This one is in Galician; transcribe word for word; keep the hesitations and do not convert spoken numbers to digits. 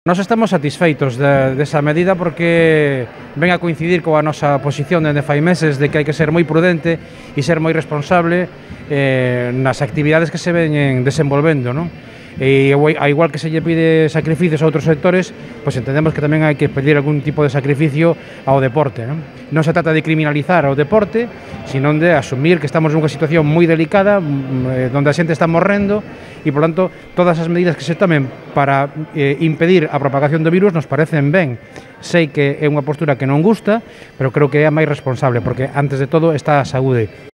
Nós estamos satisfeitos de, desa medida porque ven a coincidir coa nosa posición dende fai meses de que hai que ser moi prudente e ser moi responsable eh, nas actividades que se veñen desenvolvendo, non? E a igual que se lle pide sacrificios a outros sectores, pois entendemos que tamén hai que pedir algún tipo de sacrificio ao deporte, non? Non se trata de criminalizar ao deporte, sino de asumir que estamos nunha situación moi delicada, onde a xente está morrendo, e, por tanto, todas as medidas que se tomen para eh, impedir a propagación do virus nos parecen ben. Sei que é unha postura que non gusta, pero creo que é a máis responsable, porque, antes de todo, está a saúde.